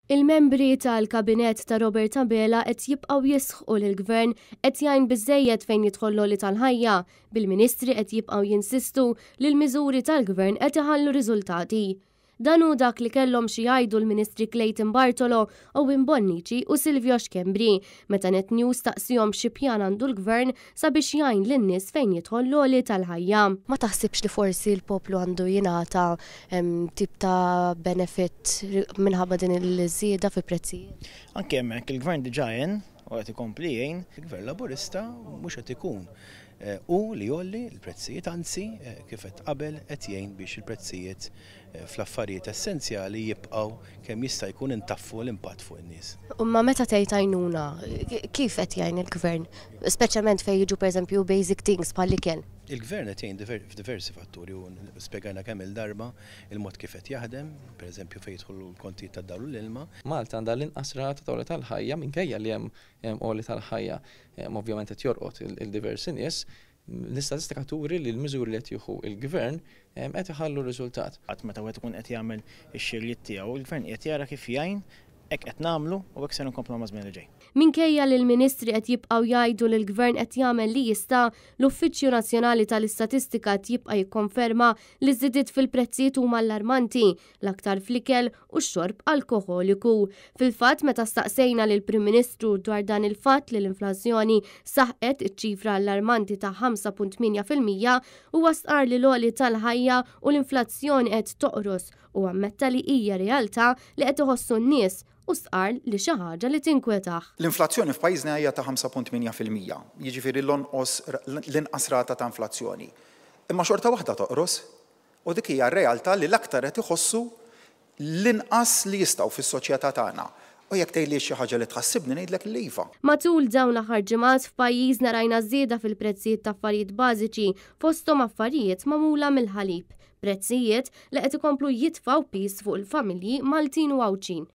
Il-membri tal-Kabinett ta' Robert Abela qed jibqgħu jisħqu li l-Gvern qed jgħin biżżejjed fejn jidħol l-għoli tal-ħajja, bil-Ministri qed jibqgħu jinsistu li l-miżuri tal-Gvern qed iħallu riżultati. Dan hu dak li kellhom xi jgħidu l-Ministri Clayton Bartolo, Owen Bonnici u Silvio Schembri meta Net News staqsihom xi pjan għandu l-Gvern sabiex jgħin lin-nies fejn jidħol l-għoli tal-ħajja. Ma taħsibx li forsi l-poplu għandu jingħata tip ta' benefit minħabba din il-żieda fi prezzijiet? Anke hemmhekk il-Gvern diġà għen u qed ikompli jgħin. Il-Gvern Laburista mhux qed ikun hu li jgħolli l-prezzijiet, anzi kif għedt qabel qed jgħin biex il-prezzijiet fl-affarijiet essenzjali jibqgħu kemm jista' jkun intaffu l-impatt fuq in-nies. Imma meta tgħid għajnuna, kif qed jgħin il-Gvern? Speċjalment fejn jiġu pereżempju basic things bħall-ikel. Il-Gvern qed jgħin f'diversi fatturi u spjegajna kemm-il darba il-mod kif qed jaħdem, pereżempju fejn jidħlu l-kontijiet tad-dawl u l-ilma. Malta għandha l-inqas rata ta' għoli tal-ħajja minkejja li hemm għoli tal-ħajja ovvjament qed jorqod il-diversi nies. L-istatistika turi li l-miżuri li qed jieħu l-Gvern qed iħallu riżultat. Meta wieħed ikun qed jagħmel ix-xirjiet tiegħu, il-Gvern qiegħed jara kif jgħin, hekk qed nagħmlu u hekk ser inkomplu maż-żmien li ġej. Minkejja li l-Ministri qed jibqgħu jgħidu li l-Gvern qed jagħmel li jista', l-Uffiċċju Nazzjonali tal-Istatistika qed jibqa' jikkonferma li ż-żidiet fil-prezzijiet huma allarmanti, l-aktar fl-ikel u x-xorb alkoħoliku. Fil-fatt, meta staqsejna lill-Prim Ministru dwar dan il-fatt li l-inflazzjoni saħqet iċ-ċifra allarmanti ta' 5.8%, huwa stqarr li l-għoli tal-ħajja u l-inflazzjoni qed toqros u ammetta li hija realtà li qed iħossu n-nies u stqarr li xi ħaġa li tinkwetah. L-inflazzjoni f'pajjiżna hija ta' 5.8%, jiġifieri l-onqos l-inqas rata ta' inflazzjoni. Imma xorta waħda toqros. U dik hija r-realtà li l-aktar qed iħossu l-inqas li jistgħu fis-soċjetà tagħna. U jekk tgħidli xi ħaġa li tħassibni ngħidlek li iva. Matul dawn l-aħħar ġimgħat f'pajjiżna rajna żieda fil-prezzijiet ta' affarijiet bażiċi fosthom affarijiet magħmula mill-ħalib, prezzijiet li qed ikomplu jitfgħu piż fuq il-familji Maltin u Għawdxin.